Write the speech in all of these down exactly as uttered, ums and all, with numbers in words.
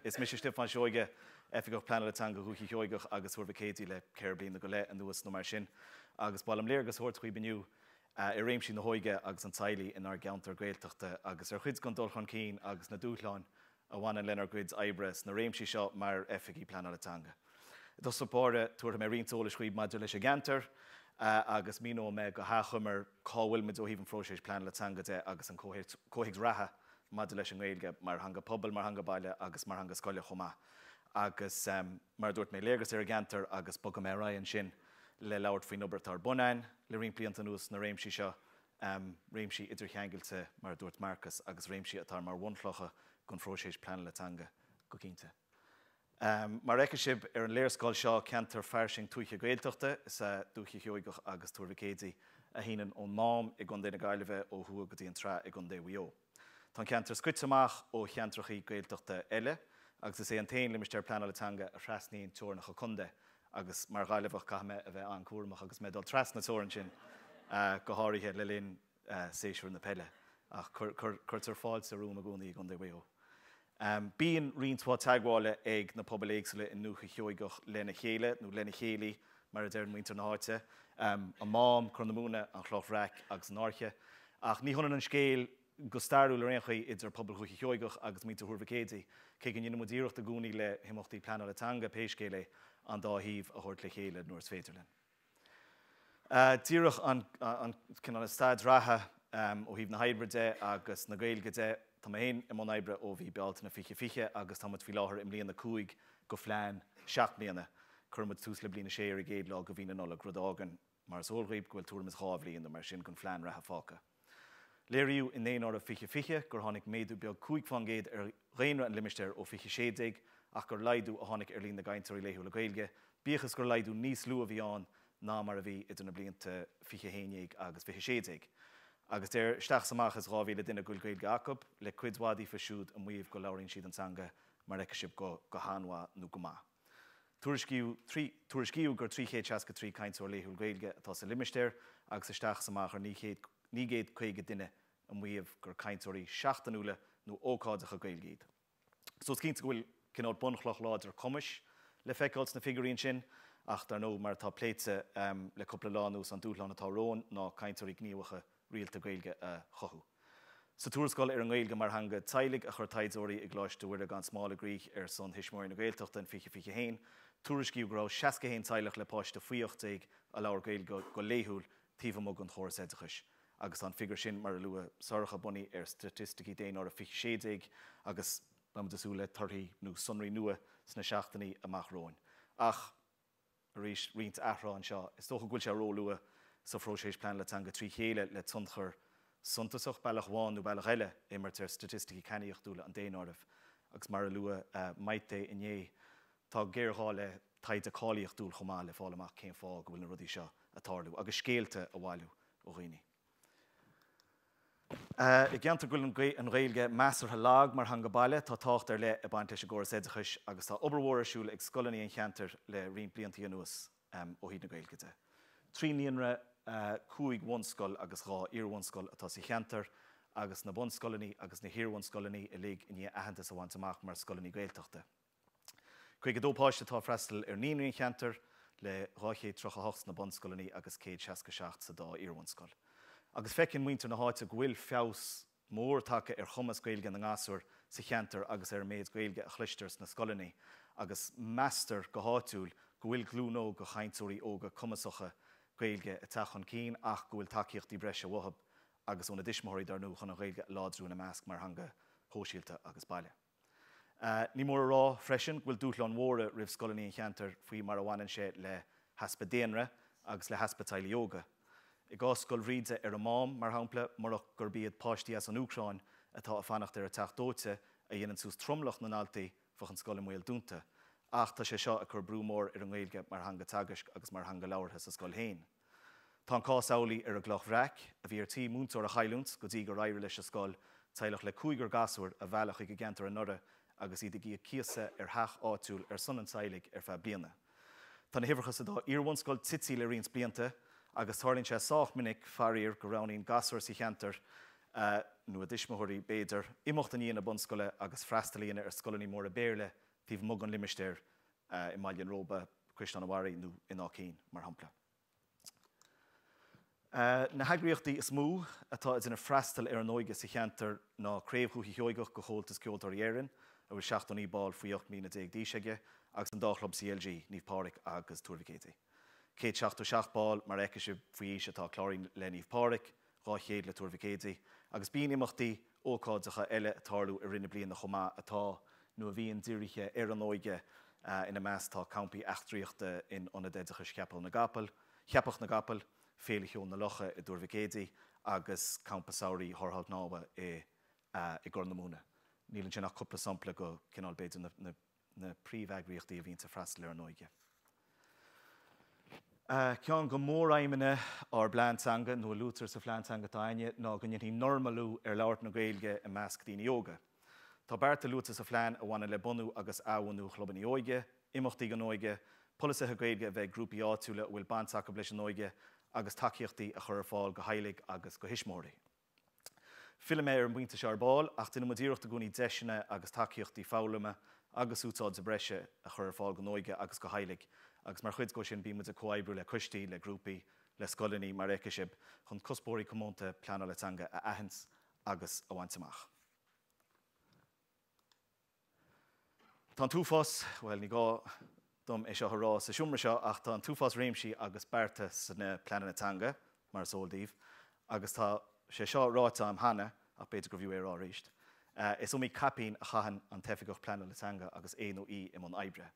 Is mise Stiofán Seoige, Oifigeach Pleanála Teanga Dhúiche Sheoigeach agus Thuar Mhic Éadaigh le ceithre bliana go leith anuas nó mar sin, agus ba mhaith liom léargas a thabhairt dhaoibh inniu i réimsí na hóige agus an teaghlaigh inár gceantar Gaeltachta agus ar chuid den dul chun cinn agus na dúshláin a bhaineann lenár gcuid oibre sna réimsí seo mar oifigigh pleanála teanga. I dtosach báire, tabharfaidh mé roinnt eolais dhaoibh maidir leis an gceantar agus míneoidh mé go hachomair cá bhfuil muid ó thaobh an phróisis pleanála teanga de agus an comhthéacs reatha maidir leis an nGaeilge mar theanga pobail, mar theanga baile agus mar theanga scoile chomh maith. Agus mar a dúirt mé, léargas ar an gceantar agus bogfaidh mé ar aghaidh ansin le labhairt faoin obair atá ar bun againn le roinnt blianta anuas sna réimsí seo, réimsí idircheangailte mar a dúirt Marcas agus réimsí atá mar bhunchlocha don phróiseas pleanála teanga go cinnte. Mar a fheicfidh sibh ar an léarscáil seo, ceantar fairsing tuaithe Gaeltachta is ea Dúiche Sheoigeach agus Tuar Mhic Éadaigh a shíneann ón Mám i gContae na Gaillimhe ó thuaidh go dtí an tSraith i gContae Mhaigh Eo. Tá an ceantar scoite amach ó cheantracha Gaeltachta eile agus is é an t-aon limistéar pleanála teanga a thrasnaíonn teorainneacha contae agus mar Ghaillimheach caithfidh mé a bheith an-chúramach agus mé ag dul trasna na teorann sin, go háirithe le linn séasúr na peile. Ach cuirtear fáilte romham i gcónaí i gContae Mhaigh Eo. Bíonn roinnt mhaith teagmhála ag na pobail éagsúla i nDúiche Sheoigeach lena chéile, nó lena chéilí, mar a deireann muintir na háite, an Mám, Corr na Móna, an Chloch Bhreac agus an Fhairche. Ach ní hionann an scéal, go stairiúil ar aon chaoi, idir pobal Dhúiche Sheoigeach agus muintir Thuar Mhic Éadaigh, cé go ndéanann muid iarracht i gcónaí le himeachtaí pleanála teanga, pé scéal é, an dá thaobh a thabhairt le chéile nuair is féidir linn. Díreach an cineál staid reatha ó thaobh na hoibre de agus na Gaeilge de, tá mé féin i mbun oibre ó mhí Bealtaine fiche fiche agus tá muid faoi láthair i mbliain a cúig de phlean seacht mbliana. Cuirfidh muid tús le bliain a sé ar an gcéad lá de mhí na Nollag, rud a fhágann, mar is eol dhaoibh, go bhfuil tuairim is dhá bhliain nó mar sin den phlean reatha fágtha. Léiríodh i nDaonáireamh fiche fiche gur tháinig méadú beag cúig faoin gcéad ar dhaonra an limistéir ó fiche sé déag ach gur laghdú a tháinig ar líon na gcainteoirí laethúla Gaeilge, bíodh is gur laghdú níos lú a bhí ann ná mar a bhí idir na blianta fiche haon déag agus fiche sé déag. Agus deir isteach is amach is dhá mhíle duine go bhfuil Gaeilge acu, le cuid mhaith díofa siúd ag maíomh go labhraíonn siad an teanga mar a fheicfidh sibh go go han-mhaith nó go maith. Tuairiscíodh trí tuairiscíodh gur trí chéad seasca trí cainteoir laethúil Gaeilge atá sa limistéar agus isteach is amach ar naoi chéad naoi gcéad caoga duine ag maíomh gur cainteoirí seachtainiúla nó ócáideacha Gaeilge iad. So is cinnte go bhfuil cineál bunchloch láidir cumais le feiceáil sna figiúirí ansin, ach dar ndóigh, mar atá pléite le cúpla lá anuas, an dúshlán atá romhainn ná cainteoirí gníomhacha rialta Gaeilge a chothú. Sa tuarascáil ar an nGaeilge mar theanga teaghlaigh a chuir taighdeoirí i gColáiste Mhuire gan Smál i gcrích ar son Thuismitheoirí na Gaeltachta in fiche fiche haon, tuairiscíodh go raibh seasca haon teaghlach le páiste faoi ocht déag a labhair Gaeilge go laethúil taobh amuigh den chóras oideachais agus tá an figiúr sin, mar a luadh, Sorcha, bunaithe ar staitisticí Daonáireamh fiche sé déag agus beidh muid ag súil le torthaí nó sonraí nua sna seachtainí amach romhainn. Ach, arís, roinnt athrá anseo. Is dócha go bhfuil sé róluath sa phróiseas pleanála teanga trí chéile le tionchar suntasach, bealach amháin nó bealach eile, a imirt ar staitisticí cainníochtúla an daonáirimh. Agus mar a luadh Maite inné, tá géarghá le taighde cáilíochtúil chomh maith le fáil amach cén fáth go bhfuil na rudaí seo ag tarlú agus scéalta a bhailiú ó dhaoine. I gceantar go bhfuil an Ghaeilge measartha lag mar theanga baile, tá tábhacht ar leith ag baint leis an gcóras oideachais agus tá obair mhór ar siúl ag scoileanna an cheantair le roinnt blianta anuas ó thaobh na Gaeilge de. Trí naíonra, cúig bhunscoil agus dhá iarbhunscoil atá sa cheantar agus na bunscoileanna agus na hiarbhunscoileanna uilig i ndiaidh aitheantas a bhaint amach mar scoileanna Gaeltachta. caoga a dó páiste atá ag freastal ar naíonraí an cheantair, le dhá chéad tríocha a hocht sna bunscoileanna agus céad seasca a seacht sa dá iarbhunscoil. Agus feiceann muintir na háite go bhfuil feabhas mór tagtha ar chumas Gaeilge na ngasúr sa cheantar agus ar an méid Gaeilge a chloistear sna scoileanna agus meastar go háitiúil go bhfuil glúin óg de chainteoirí óga cumasacha Gaeilge ag teacht chun cinn ach go bhfuil tacaíochtaí breise uathu agus óna dtuismitheoirí dar ndóigh chun an Ghaeilge a láidriú ina measc mar theanga shóisialta agus baile. Ní mór a rá freisin go bhfuil dúshláin mhóra roimh scoileanna an cheantair faoi mar a bhaineann sé le heaspa daonra agus le heaspa teaghlaigh óga. I gcás Scoil Bhríde ar an Mám, mar shampla, murach gurb iad páistí as an Úcráin atá ag fanacht ar an teach dóite a dhéanann suas tromlach na ndaltaí, bheadh an scoil i mbaol dúnta. Ach tá sé seo ag cur brú mór ar an nGaeilge mar theanga teagaisc agus mar theanga labhartha sa scoil féin. Tá an cás amhlaidh ar an gCloch Bhreac, a bhí ar tí múinteoir a chailliúint go dtí gur éirigh leis an scoil teaghlach le cúigear gasúr a mhealladh chuig an gceantar anuraidh agus iad ag íoc cíosa ar theach áitiúil ar son an teaghlaigh ar feadh bliana. Tá na huimhreacha sa dá iarbhunscoil tite le roinnt blianta agus tarlaíonn sé sách minic, faraor, go roghnaíonn gasúir sa cheantar nó a dtuismitheoirí b'fhéidir, imeacht i ndiaidh na bunscoile agus freastal a dhéanamh ar scoileanna móra Béarla taobh amuigh den limistéar i mBaile an Róba, Caisleán an Bharraigh nó in Áth Cinn, mar shampla. Na heagraíochtaí is mó atá ag déanamh freastal ar an óige sa cheantar ná Craobh Dhúiche Sheoigeach de Chomhaltas Ceoltóirí Éireann, a bhfuil seachtó naoi ball faoi ocht mbliana déag d'aois aige, agus an dá chlub C L G, Naomh Pádraig agus Tuar Mhic Éadaigh. Céad seachtó seacht ball, mar a fheicfidh sibh, faoi aois atá cláraithe le Naomh Pádraig, dhá chéad le Tuar Mhic Éadaigh, agus bíonn imeachtaí ócáideacha eile ag tarlú i rith na bliana chomh maith atá nó a bhíonn dírithe ar an óige. Ina measc tá campaí eachtraíochta in Ionad Oideachais Cheapach na gCapall, Cheapach na gCapall, Féile Cheoil na Locha i dTuar Mhic Éadaigh agus Campa Samhraidh Thárrtháil Shnámha i i gCorr na Móna. Níl ansin ach cúpla sampla go cineál b'fhéidir na, na, na príomheagraíochtaí a bhíonn ag freastal ar an óige. Ceann de mhóraidhmeanna ár bplean teanga, nó a luaitear sa phlean teanga atá againne, ná go ndéanfaí normalú ar labhairt na Gaeilge i measc daoine óga. Tá bearta luaite sa phlean a bhaineann le bunú agus athbhunú chlubanna óige, imeachtaí don óige, polasaithe Gaeilge a bheith ag grúpaí áitiúla a bhfuil baint acu leis an óige agus tacaíochtaí a chur ar fáil do theaghlaigh agus do thuismitheoirí. Fillfidh mé ar an bpointe seo ar ball, ach déanann muid iarracht i gcónaí deiseanna agus tacaíochtaí foghlama agus úsáide breise a chur ar fáil don óige agus do theaghlaigh, agus mar chuid de sin bíonn muid ag comhoibriú le coistí, le grúpaí, le scoileanna, mar a fheicfidh sibh, chun cuspóirí comónta pleanála teanga a aithint agus a bhaint amach. Tá an t-uafás, bhuel, ní gá dom é seo a rá sa seomra seo, ach tá an t-uafás réimsí agus bearta sna pleananna teanga, mar is eol daoibh, agus tá sé seo ráite agam cheana, ach b'fhéidir gurbh fhiú é a rá arís. Is iomaí caipín a chaitheann an tOifigeach Pleanála Teanga agus é nó í i mbun oibre.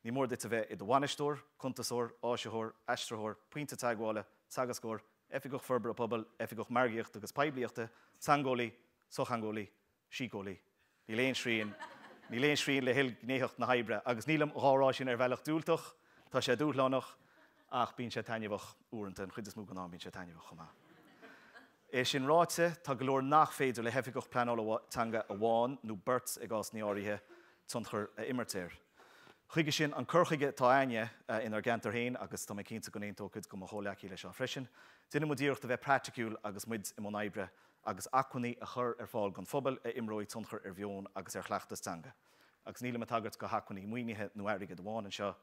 Ní mór duit a bheith i do bhainisteoir, cuntasóir, áisitheoir, aistritheoir, pointe teagmhála, teagascóir, oifigeach forbartha pobail, oifigeach margaíochta agus poiblíochta, teangeolaí, sochtheangeolaí, síceolaí. Níl aon srian, níl aon srian le hilghnéitheacht na hoibre, agus nílim dhá rá sin ar bhealach diúltach, tá sé dúshlánach, ach bíonn sé taitneamhach uaireanta, an chuid is mó den am bíonn sé taitneamhach chomh maith. É sin ráite, tá go leor nach féidir le hoifigeach pleanála teanga amháin, nó beirt i gcásanna áirithe, tionchar a imirt air. Chuige sin, an cur chuige atá againne inár gceantar féin, agus tá mé cinnte go n-aontóidh cuid de mo chomhghleacaithe leis seo freisin, déanann muid iarracht a bheith praiticiúil agus muid i mbun oibre, agus acmhainní a chur ar fáil don phobal a imreoidh tionchar ar mheon agus ar chleachtas teanga. Agus nílim ag tagairt do hacmhainní maoinithe nó airgid amháin anseo,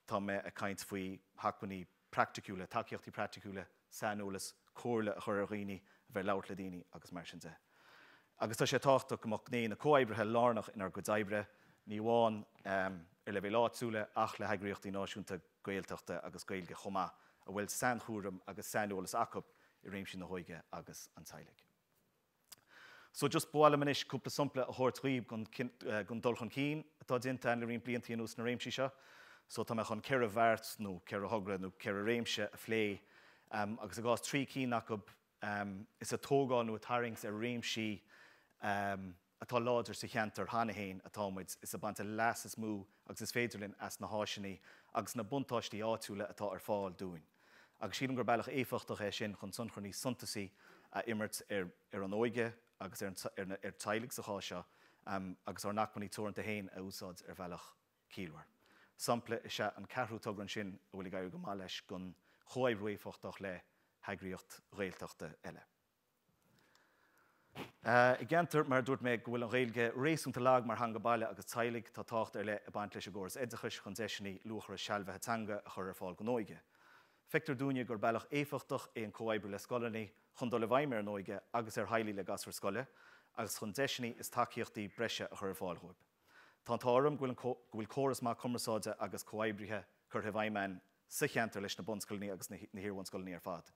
tá mé ag caint faoi hacmhainní praiticiúla, tacaíochtaí praiticiúla, saineolas, comhairle a chur ar dhaoine, a bheith ag labhairt le daoine agus mar sin de. Agus tá sé tábhachtach go mbeadh gné na comhoibrithe lárnach inár gcuid oibre, ní amháin ar leibhéal áitiúla ach le heagraíochtaí náisiúnta Gaeltachta agus Gaeilge chomh maith, a bhfuil sainchúram agus saineolas acu i réimsí na hóige agus an teaghlaigh. So just ba mhaith liom anois cúpla sampla a thabhairt dhaoibh den dul chun cinn atá déanta againn le roinnt blianta anuas sna réimsí seo. So tá mé chun ceithre bheart nó ceithre thogra nó ceithre réimse a phlé, agus i gcás trí cinn acu is ag tógáil nó ag tarraingt ar réimsí atá láidir sa cheantar cheana féin atá muid, is ag baint an leas is mó agus is féidir linn as na háiseanna agus na buntáistí áitiúla atá ar fáil dúinn. Agus sílim gur bealach éifeachtach é sin chun tionchar níos suntasaí a imirt ar ar an óige agus ar ar ar teaghlaigh sa chás seo, agus ár n-acmhainní teoranta féin a úsáid ar bhealach ciallmhar. Sampla is ea an ceathrú togra ansin a bhfuil ag éirí go maith leis den chomhoibriú éifeachtach le heagraíocht Ghaeltachta eile. I gceantar, mar a dúirt mé, go bhfuil an Ghaeilge réasúnta lag mar theanga baile agus teaghlaigh, tá tábhacht ar leith ag baint leis an gcóras oideachais chun deiseanna luachmhara sealbhaithe teanga a chur ar fáil don óige. Feictear dúinne gur bealach éifeachtach é an comhoibriú le scoileanna chun dul i bhfeidhm ar an óige agus ar theaghlaigh le gasúir scoile agus chun deiseanna is tacaíochtaí breise a chur ar fáil dóibh. Tá an t-ádh orm go bhfuil córas maith cumarsáide agus comhoibrithe curtha i bhfeidhm againn sa cheantar leis na bunscoileanna agus na hiar-bhunscoileanna ar fad.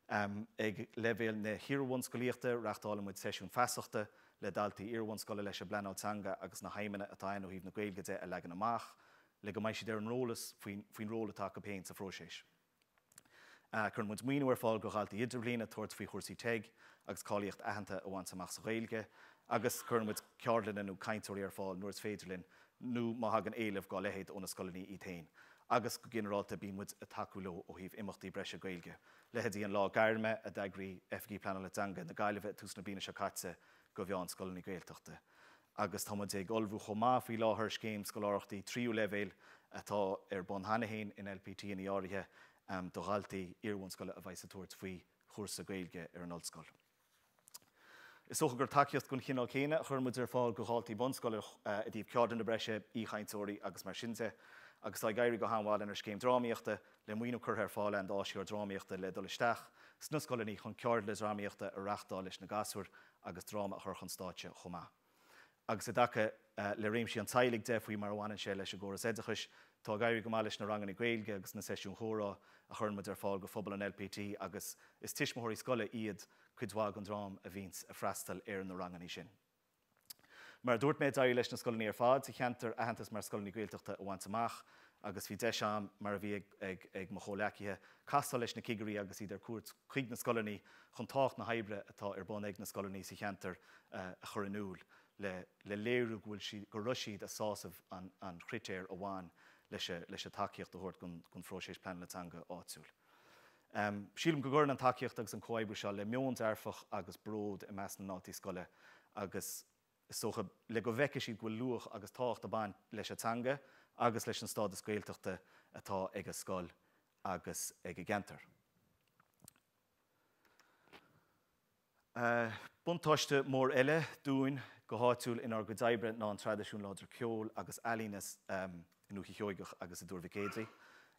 Ag leibhéal na hiar-bhunscolaíochta, reáchtálann muid seisiúin feasachta le daltaí iar-bhunscoile leis an bpleanáil teanga agus na haidhmeanna atá ann ó thaobh na Gaeilge de a leagan amach, le go mbeidh siad ar an eolas faoin ról atá acu féin sa phróiseas. Cuireann muid maoiniú ar fáil do dhaltaí idirbhliana tabhairt faoi chúrsaí TEG agus cáilíocht aitheanta a bhaint amach sa Ghaeilge, agus cuireann muid ceardlanna nó cainteoirí ar fáil nuair is féidir linn nó má thagann éileamh dá leithéid ó na scoileanna iad féin. Agus go ginearálta bíonn muid ag tacú leo ó thaobh imeachtaí breise Gaeilge, leithéidí an Lá Gairme a d'eagraigh Oifigí Pleanála Teanga na Gaillimhe ag tús na bliana seo caite do mheánscoileanna Gaeltachta. Agus tá muid ag ullmhú chomh maith faoi láthair scéim scoláireachtaí tríú leibhéal atá ar bun cheana féin in L P T ina áirithe do dhaltaí iar-bhunscoile a bheidh ag tabhairt faoi chúrsa Gaeilge ar an ollscoil. Is dócha gur tacaíocht den chineál céanna a chuireann muid ar fáil do dhaltaí bunscoile i dtaobh ceardlanna breise, aoichainteoirí agus mar sin de, agus tá ag éirí go han-mhaith lenár scéim drámaíochta, le maoiniú curtha ar fáil againn d'áisitheoir drámaíochta le dul isteach sna scoileanna chun ceardlanna drámaíochta a reáchtáil leis na gasúir agus dráma a chur chun stáitse chomh maith. Agus i dtaca le réimsí an teaghlaigh de faoi mar a bhaineann sé leis an gcóras oideachais, tá ag éirí go maith leis na ranganna Gaeilge agus na seisiúin chomhrá a chuireann muid ar fáil go phobal an L P T agus is tuismitheoirí scoile iad cuid mhaith den dream a bhíonns ag freastal ar na ranganna sin. Mar a dúirt mé, d'éirigh leis na scoileanna ar fad sa cheantar aitheantas mar scoileanna Gaeltachta a bhaint amach agus bhí deis agam, mar a bhí ag, ag, ag mo chomhleacaithe, castáil leis na cigirí agus iad ar cuairt chuig na scoileanna chun tábhacht na hoibre atá ar bun ag na scoileanna sa cheantar uh, a chur in iúl le, le léiriú go bhfuil siad, go raibh siad ag sásamh an, an chritéir a bhain leis, leis an tacaíocht a thabhairt don, don phróiseas pleanála teanga áitiúil. Um, sílim go gcuireann an tacaíocht agus an comhoibriú seo le meon dearfach agus bród i measc na ndaltaí scoile agus is dócha le go bhfeicfidh siad go bhfuil luach agus tábhacht ag baint leis an teanga agus leis an stádas Gaeltachta atá ag a scoil agus ag a gceantar. Uh, buntáiste mór eile dúinn go háitiúil inár gcuid oibre ná an traidisiún láidir ceoil agus ealaíne um, i nDúiche Sheoigeach agus i dTuar Mhic Éadaigh,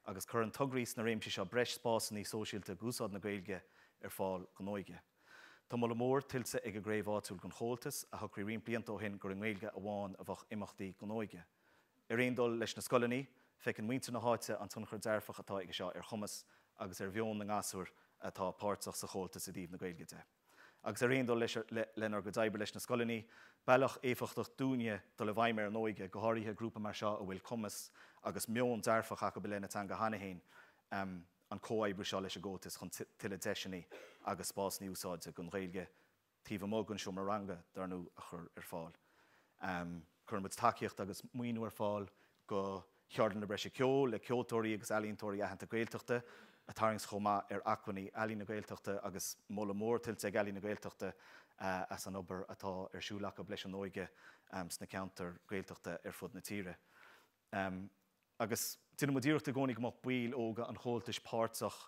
agus cuireann tograí sna réimsí seo breis spásanna sóisialta d'úsáid na Gaeilge ar fáil don óige. Tá moladh mór tuillte ag an gcraobh áitiúil den Chomhaltas a shocraigh roinnt blianta ó shin gur i nGaeilge amháin a bheadh imeachtaí don óige. Ar aon dul leis na scoileanna, feiceann muintir na háite an tionchar dearfach atá aige seo ar chumas agus ar mheon na ngasúr atá páirteach sa Chomhaltas i dtaobh na Gaeilge de. Agus ar aon dul leis le, lenár gcuid oibre leis na scoileanna, bealach éifeachtach dúinne dul i bhfeidhm ar an óige, go háirithe grúpa mar seo a bhfuil cumas agus meon dearfach acu i leith na teanga cheana féin, um, an comhoibriú seo leis an gComhaltas chun tuilleadh deiseanna agus spásanna úsáide don Ghaeilge taobh amuigh den seomra ranga dar ndóigh a chur ar fáil. Um, Cuireann muid tacaíocht agus maoiniú ar fáil go cheardlanna breise ceoil le ceoltóirí agus ealaíontóirí aitheanta Gaeltachta a tarraingt chomh maith ar acmhainní Ealaín na Gaeltachta agus moladh mór tuillte ag Ealaín na Gaeltachta uh, as an obair atá ar siúl acu leis an óige um, sna ceantair Gaeltachta ar fud na tíre. Um, agus déanann muid iarracht i gcónaí go mbeadh baill óga an Chomhaltais páirteach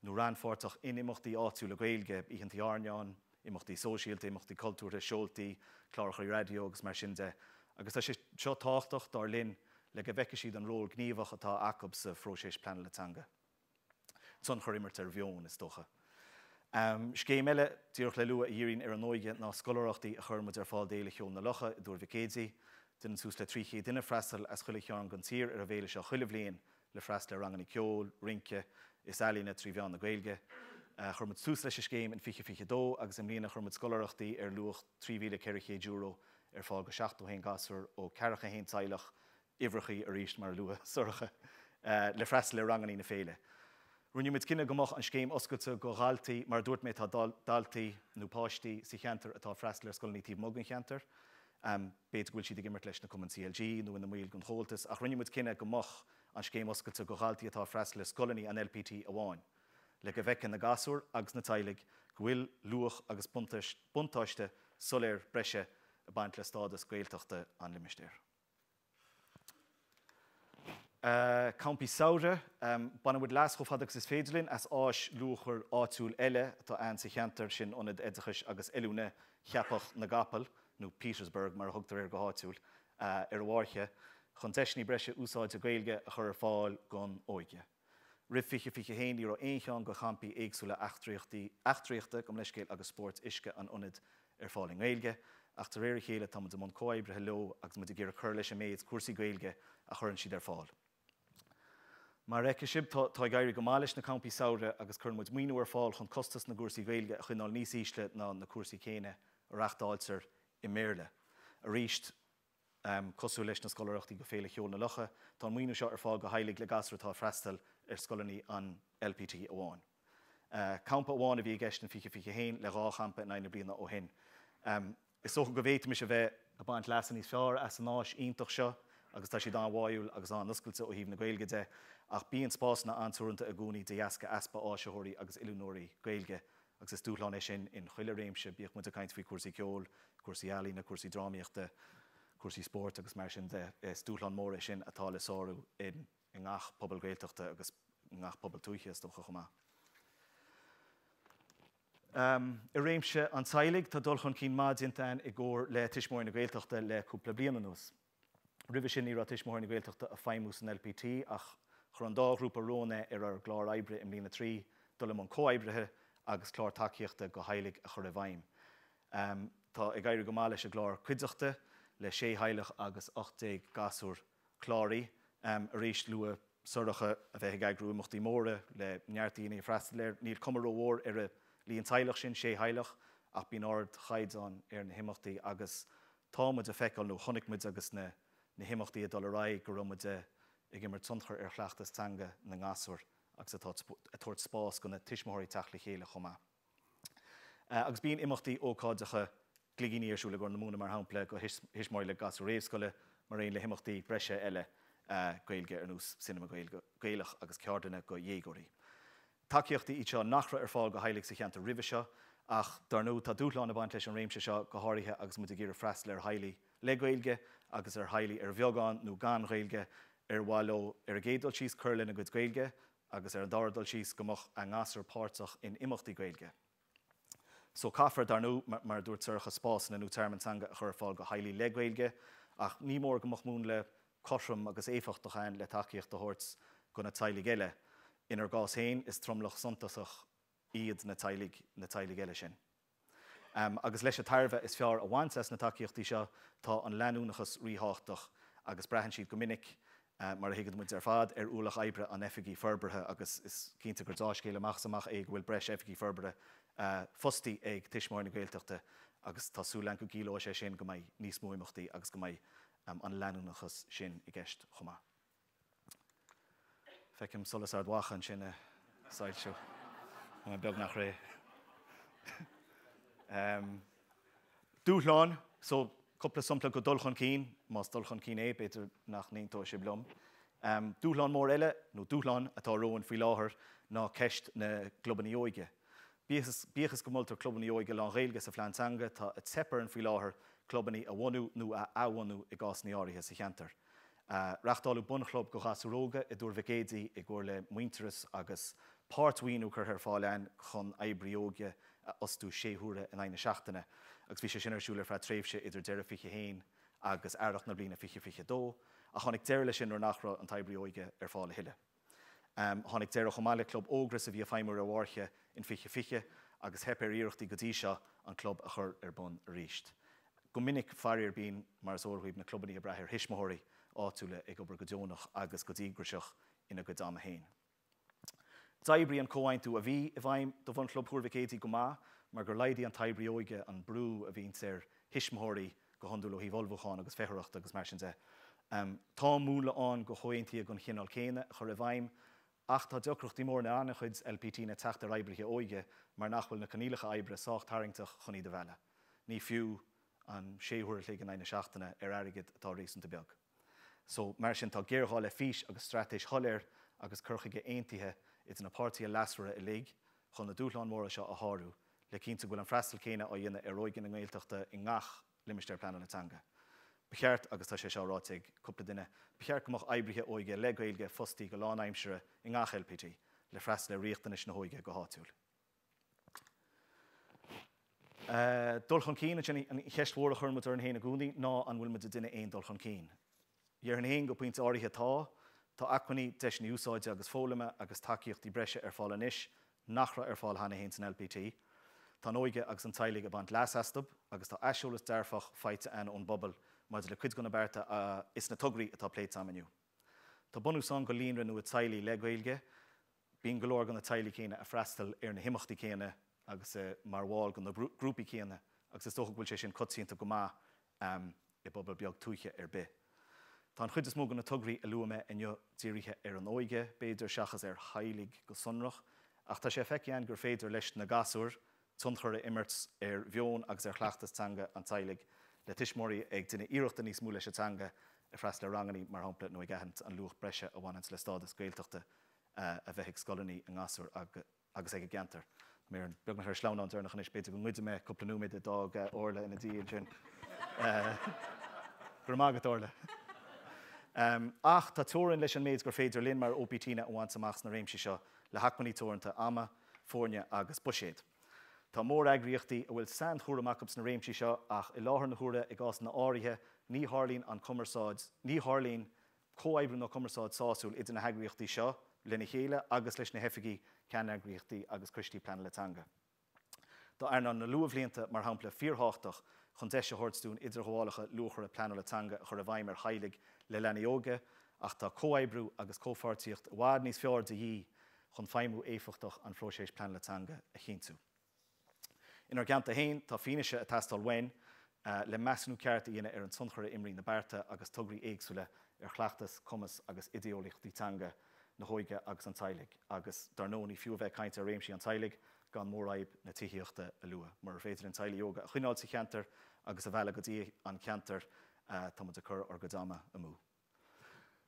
nó rannpháirteach in imeachtaí áitiúla Gaeilge, oícheanta airneáin, imeachtaí sóisialta, imeachtaí cultúrtha, seoltaí, cláracha raidió agus mar sin de. Agus tá sé seo tábhachtach dar linn le go bhfeicfidh siad an ról gníomhach atá acu sa phróiseas pleanála teanga. Tionchar imirt ar mheon is dócha. Um, Scéim eile díreach le lua a dhíríonn ar an óige ná scoláireachtaí a chuir muid ar fáil d'Fhéile Cheoil na Locha i dTuar Mhic Éadaigh, Déanann suas le trí chéad duine freastal as chuile chearn den tír ar an bhféile seo chuile bhliain le freastal ar ranganna ceoil, rince is ealaíne trí mheán na Gaeilge. Chuir muid tús leis an scéim in fiche fiche dó agus i mbliana chuir muid scoláireachtaí ar luach trí mhíle ceithre chéad euro ar fáil go seachtó haon gasúr ó ceathracha haon teaghlach, uimhreacha arís mar a luaigh Sorcha, le freastal ar ranganna na féile. Rinne muid cinneadh go mbeadh an scéim oscailte go dhaltaí, mar a dúirt mé tá daltaí nó páistí sa cheantar atá ag freastal ar scoileanna taobh amuigh den cheantar. B'fhéidir go bhfuil siad ag imirt leis na cumainn C L G nó ina mbaill den Chomhaltas, ach rinne muid cinneadh go mbeadh an scéim oscailte go dhaltaí atá ag freastal ar scoileanna an L P T amháin, le go bhfeiceann na gasúir agus na teaghlaigh go bhfuil luach agus buntáiste soiléir breise ag baint le stádas Gaeltachta an limistéir. Campaí samhraidh. Baineann muid leas chomh fada agus is féidir linn as áis luachmhar áitiúil eile atá ann sa cheantar, sin Ionad Oideachais agus Oiliúna Cheapach na gCapall, nó Petersburg mar a thugtar air go háitiúil, ar an bhFáirche, chun deiseanna breise úsáide Gaeilge a chur ar fáil don óige. Roimh fiche fiche a haon ní raibh aon cheann de champaí éagsúla eachtraíochta, gabh mo leithscéal, agus spóirt uisce an ionaid ar fáil i nGaeilge, ach de réir a chéile tá muid i mbun comhoibrithe leo agus muid ag iarraidh cur leis an méid cúrsaí Gaeilge a chuireann siad ar fáil. Mar a fheicfidh sibh, tá tá ag éirí go maith leis na campaí samhraidh agus cuireann muid maoiniú ar fáil chun costas na gcúrsaí Gaeilge a choinneáil níos ísle ná na cúrsaí céanna a reáchtáiltear i mBéarla. Arís, cosúil leis na scoláireachtaí go Féile Cheoil na Locha, tá an maoiniú seo ar fáil do theaghlaigh le gasúir atá ag freastal ar scoileanna an L P T amháin. Campa amháin a bhí i gceist in fiche fiche a haon le dhá champa in aghaidh na bliana ó shin. Is dócha go bhféadfaimis a bheith ag baint leasa níos fearr as an áis iontach seo agus tá siad an-bháúil agus an-oscailte ó thaobh na Gaeilge de, ach bíonn spásanna an-teoranta i gcónaí de dheasca easpa áisitheoirí agus oiliúnóirí Gaeilge agus is dúshlán é sin in chuile réimse, bíodh muid ag caint faoi chúrsaí ceoil, cúrsaí ealaíne, cúrsaí drámaíochta, cúrsaí spóirt agus mar sin de. Is dúshlán mór é sin atá le sárú i ngach pobal Gaeltachta agus i ngach pobal tuaithe is dócha chomh maith. Um, I réimse an teaghlaigh tá dul chun cinn maith déanta againn i gcomhar le Tuismitheoirí na Gaeltachta le cúpla bliain anuas. Roimhe sin ní raibh Tuismitheoirí na Gaeltachta ag feidhmiú san LPT ach chuir an dá ghrúpa romhainn é ar ár gclár oibre i mbliain a trí dul i mbun comhoibrithe agus clár tacaíochta do theaghlaigh a chur i bhfeidhm. Um, tá ag éirí go maith leis an gclár cuideachta le sé theaghlach agus ocht déag gasúr cláraithe um, arís luaigh Sorcha a bheith ag eagrú imeachtaí móra le neart daoine ag freastal air níl cuma rómhór ar an líon teaghlach sin sé theaghlach ach bíonn ardchaighdeán ar na himeachtaí agus tá muid ag feiceáil nó chonaic muid agus na, na himeachtaí ag dul ar aghaidh go raibh muid ag imirt tionchar ar chleachtas teanga na ngasúr agus atá ag tabhairt spás do na tuismitheoirí teacht le chéile chomh maith. Uh, agus bíonn imeachtaí ócáideacha gligíní ar siúl i gCorr na Móna mar shampla do thuismitheoirí le gasúir réamhscoile mar aon le himeachtaí breise eile uh, Gaeilge ar nós cinema Gaelach agus ceardlanna do dhéagóirí. Tacaíochtaí iad seo nach raibh ar fáil do theaghlaigh sa cheantar roimhe seo, ach dar ndóigh tá dúshlán ag baint leis an réimse seo go háirithe agus muid ag iarraidh freastal ar theaghlaigh le Gaeilge agus ar theaghlaigh ar bheagán nó gan Ghaeilge ar mhaith leo ar an gcéad dul síos cur lena gcuid Gaeilge agus ar an dara dul síos go mbeadh a ngasúir páirteach in imeachtaí Gaeilge. So caithfear dar ndóigh mar dúirt Sorcha spásanna nó tearmann teanga a chur ar fáil do theaghlaigh le Gaeilge, ach ní mór go mbeadh múnla cothrom agus éifeachtach ann le tacaíocht a thabhairt do na teaghlaigh eile. Inár gcás féin is tromlach suntasach iad na teaghlaigh na teaghlaigh eile sin. Um, agus leis an tairbhe is fearr a bhaint as na tacaíochtaí seo tá an leanúnachas ríthábhachtach agus braitheann siad go minic uh, mar a thuigeann muid ar fad ar ualach oibre an oifigigh forbartha agus is cinnte gur dea-scéal amach is amach é go bhfuil breis oifigigh forbartha uh, fostaithe ag Tuismitheoirí na Gaeltachta agus tá súil go gciallóidh sé sin go mbeidh níos mó imeachtaí agus go mbeidh um, an leanúnachas sin i gceist chomh maith. Feicim solas Ard Mhacha ansin ag soilsiú beagnach réidh. um, Dúshlán, so cúpla sampla de dhul chun cinn, más dul chun cinn é, b'fhéidir nach n-aontóidh sibh liom. Um, dúshlán mór eile nó dúshlán atá romhainn faoi láthair ná ceist na gclubanna óige. Bíodh go moltar clubanna óige lán-Ghaeilge sa phlean teanga tá ag teip orainn faoi láthair clubanna a bhunú nó a athbhunú i gcásanna áirithe sa cheantar. Uh, Reáchtáladh bunchlub do ghasúir óga i dTuar Mhic Éadaigh i gcomhar le Muintearas agus páirtmhaoiniú curtha ar fáil ann chun oibrí óige a fhostú sé huaire in aghaidh na seachtaine, agus bhí sé sin ar siúl ar feadh tréimhse idir deireadh fiche haon agus earrach na bliana fiche fiche dó, a tháinig deireadh leis sin nuair nach raibh an t-oibrí óige ar fáil a thuilleadh. Um, tháinig deireadh chomh maith le club Ógras a bhí ag feidhmiú ar Mhairche in fiche fiche agus theip ar iarrachtaí go dtí seo an club a chur ar bun arís. Go minic faraor bíonn mar is eol na clubanna ag brath ar thuismitheoirí áitiúla ag obair go deonach agus go díograiseach ina gcuid ama féin. D'oibrigh an comhaontú a bhí i bhfeidhm do bhunchlub Thuar Mhic Éadaigh go maith, mar gur laghdaigh an t-oibrí óige an brú a bhíonn ar thuismitheoirí go hiondúil ó thaobh ullmhúcháin agus feitheoireachta agus mar sin de. Um, tá múnla ann do chomhaontuithe den chineál céanna a chur i bhfeidhm, ach tá deacrachtaí mór in an-chuid LPT na teacht ar oibrithe óige mar nach bhfuil na coinníollacha oibre sách tarraingteach chun iad a mhealladh. Ní fiú an sé huaire in aghaidh na seachtaine ar airgead atá réasúnta beag. So mar sin tá géarghá le fís agus straitéis shoiléir agus cur chuige aontaithe idir na páirtithe leasmhara uilig chun na dúshláin mhóra seo a shárú, le cinntiú go bhfuil an freastal céanna á dhéanamh ar óige na Gaeltachta i ngach limistéar pleanála teanga. Ba cheart agus tá sé seo ráite ag cúpla duine, ba cheart go mbeadh oibrithe óige le Gaeilge fostaithe go lánaimseartha i ngach LPT le freastal ar riachtanais na hóige go háitiúil. Uh, dul chun cinn sin an cheist mhór a chuireann muid orainn féin i gcónaí ná an bhfuil muid ag déanamh aon dul chun cinn. Déarfainn féin go pointe áirithe tá, tá acmhainní deiseanna úsáide agus foghlama agus tacaíochtaí breise ar fáil anois nach raibh ar fáil cheana féin san LPT. Tá an óige agus an teaghlaigh ag baint leas astu agus tá aiseolas dearfach faighte againn ón bpobal maidir le cuid de na bearta uh, is na tograí atá pléite agam inniu. Tá bunús ann do líonra nua teaghlaigh le Gaeilge, bíonn go leor de na teaghlaigh céanna ag freastal ar na himeachtaí céanna agus uh, mar bhaill de na grúpaí céanna agus is dócha go bhfuil sé sin coitianta go maith um, i bpobal beag tuaithe ar bith. Tá an chuid is mó de na tograí a luaigh mé inniu dírithe ar an óige, b'fhéidir seachas ar theaghlaigh go sonrach, ach tá sé feicthe gur féidir leis na gasúir tionchar a imirt ar mheon agus ar chleachtas teanga an teaghlaigh le tuismitheoirí ag déanamh iarrachta níos mó leis an teanga ag freastal ar ranganna mar shampla nó ag aithint an luach breise a bhaineann le stádas Gaeltachta uh, a bheith ag scoileanna a ngasúr agus ag an gceantar. Mé beagnach ar sleamhnán deireanach anois b'fhéidir go ngoidfidh mé cúpla nóiméad a d'fhág Orla ina diaidh sin. Gur mágad Orla. Um, ach tá teorainn leis an méid gur féidir linn mar OPT-anna a bhaint amach sna réimsí seo le hacmhainní teoranta ama, foirne agus buiséid. Tá móreagraíochtaí a bhfuil sainchúram acu sna réimsí seo ach i láthair na huaire i gcásanna áirithe ní tharlaíonn an cumarsáid, ní tharlaíonn comhoibriú nó cumarsáid sásúil idir na heagraíochtaí seo lena chéile agus leis na hoifigí ceanneagraíochtaí agus coistí pleanála teanga. Tá earnáil na luathbhlianta mar shampla fíorthábhachtach chun deis a thabhairt dúinn idirghabhálacha luachmhara pleanála teanga a chur i bhfeidhm ar theaghlaigh le leanaí óga, ach tá comhoibriú agus comhpháirtíocht i bhfad níos fearr de dhíth chun feidhmiú éifeachtach an phróisis pleanála teanga a chinntiú. Inár gceantar féin tá fianaise ag teastáil uainn le measúnú ceart a dhéanamh ar an tionchar a imríonn na bearta agus tograí éagsúla ar chleachtas, cumas agus idéeolaíochtaí teanga na hóige agus an teaghlaigh, agus dar ndóigh ní fiú a bheith ag caint ar réimsí an teaghlaigh gan mórfhadhb na tithíochta a lua. Mura féidir linn teaghlaigh óga a choinneáil sa cheantar agus a mhealladh go dtí an ceantar tá muid ag cur ár gcuid ama amú.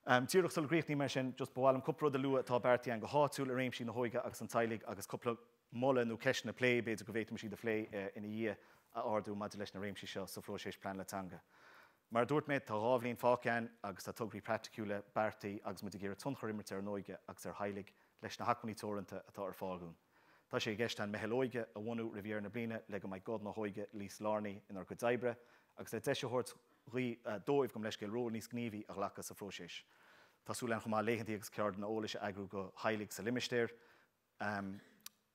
Um, Díreach sula gcríochnaím mar sin, just ba mhaith liom cúpla rud a lua atá beartaithe go háitiúil i réimsí na hóige agus an teaghlaigh agus cúpla moladh nó ceisteanna plé b'fhéidir go bhféadfaimis iad a phlé ina dhiaidh a ardú maidir leis na réimsí seo sa phróiseas pleanála teanga. Mar dúirt mé tá dhá bhliain fágtha agus tá tograí praiticiúla beartaithe agus muid ag iarraidh tionchar a imirt ar an óige agus ar theaghlaigh leis na hacmhainní teoranta atá ar fáil dúinn. Tá sé i gceist an meitheal óige a bhunú roimh dheireadh na bliana le go mbeidh guth na hóige níos lárnaí inár gcuid oibre agus le deis a thabhairt dóibh gabh mo leithscéal ról níos gníomhaí a ghlacadh sa phróiseas. Tá súil againn chomh maith laethanta agus ceardlanna eolais a eagrú do theaghlaigh sa limistéar um,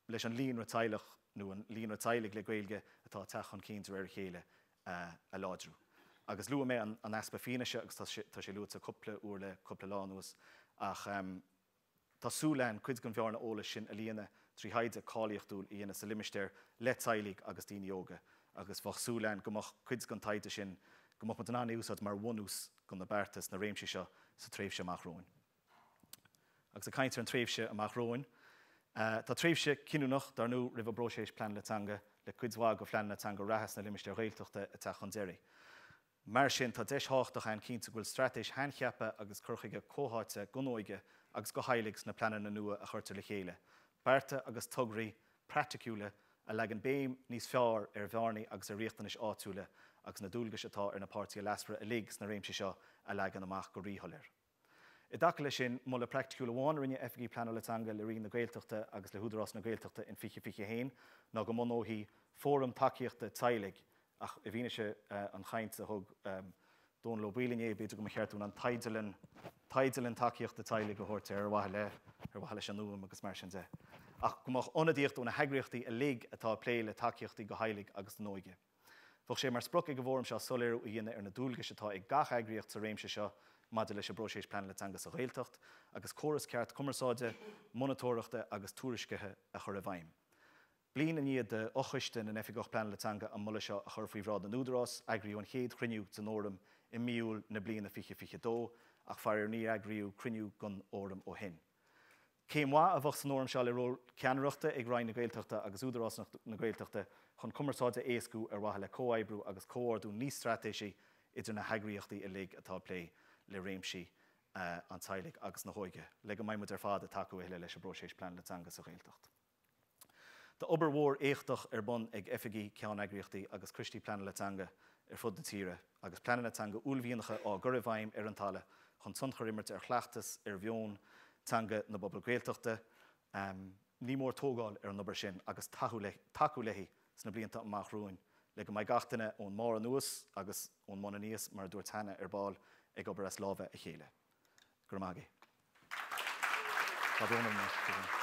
leis an líonra teaghlach nó an líonra teaghlaigh le Gaeilge atá ag teacht chun cinn de réir a chéile uh, a láidriú. Agus luaigh mé an, an easpa fianaise agus tá sé luaite cúpla uair le cúpla lá anuas ach um, tá súil againn cuid den bhearna eolais sin a líonadh trí thaighde cáilíochtúil a dhéanamh sa limistéar le teaghlaigh agus daoine óga, agus bheadh súil againn go mbeadh cuid den taighde sin go mbeadh muid in ann úsáid mar bhunús do na bearta sna réimsí seo sa tréimhse amach romhainn. Agus ag caint ar an tréimhse amach romhainn, Uh, tá tréimhse cinniúnach dar ndóigh roimh an bpróiseas pleanála teanga le cuid mhaith de phleananna teanga reatha sna limistéir Ghaeltachta ag teacht chun deiridh. Mar sin tá deis thábhachtach ann cinntiú go bhfuil straitéis shaincheaptha agus cur chuige comhtháite don óige agus do theaghlaigh sna pleananna nua a chuirtear le chéile. Bearta agus tograí praiticiúla a leagann béim níos fearr ar bhearnaí agus ar riachtanais áitiúla agus na dualgais atá ar na páirtithe leasmhara uilig sna réimsí seo a leagan amach go ríshoiléir. I dtaca leis sin moladh praiticiúil amháin a rinne Oifigí Pleanála Teanga le Roinn na Gaeltachta agus le hÚdarás na Gaeltachta in fiche fiche haon ná go mbunófaí fóram tacaíochta teaghlaigh ach i bhfianaise an chaint a thug Dónal Ó Baoill inné b'fhéidir go mba cheart dúinn an teideal teideal tacaíochta teaghlaigh a thabhairt ar mhaithe le ar mhaithe leis an fhuaim agus mar sin de. Ach go mbeadh ionadaíocht ó na heagraíochtaí uilig atá ag plé le tacaíochtaí do theaghlaigh agus don óige. Bheadh sé mar sprioc ag an bhfóram seo soiléiriú a dhéanamh ar na dualgais atá ag gach eagraíocht sa réimse seo maidir leis an bpróiseas pleanála teanga sa Ghaeltacht, agus córas ceart cumarsáide, monatóireachta agus tuairiscithe a chur i bhfeidhm. Bliain i ndiaidh d'fhochoiste na nOifigeach Pleanála Teanga an moladh seo a chur faoi bhráid na n-údarás, eagraíodh an chéad chruinniú den fhóram i mí Iúil na bliana fiche fiche dó, ach faraor níor eagraíodh cruinniú den fhóram ó shin. Céim mhaith a bheadh san fhóram seo le ról ceannaireachta ag Roinn na Gaeltachta agus Údarás na Gaeltachta chun cumarsáid a éascú ar mhaithe le comhoibriú agus comhordú níos straitéisí idir na heagraíochtaí uilig atá ag plé le réimsí an teaghlaigh agus na hóige, le go mbeidh muid ar fad ag tacú le leis an bpróiseas pleanála teanga sa Ghaeltacht. Tá obair mhór éachtach ar bun ag oifigí ceanneagraíochtaí agus coistí pleanála teanga ar fud na tíre, agus pleananna teanga uaillmhianacha á gcur i bhfeidhm ar an talamh chun tionchar imirt ar chleachtas ar mheon teanga na bpobal Gaeltachta. Um, ní mór tógáil ar an obair sin agus tacú léi sna blianta amach romhainn, le go mbeidh gach duine ón mbarr anuas agus ón mbun aníos mar a dúirt cheana ar ball ag obair as lámha a chéile. Go raibh maith agaibh. Tá brón orm.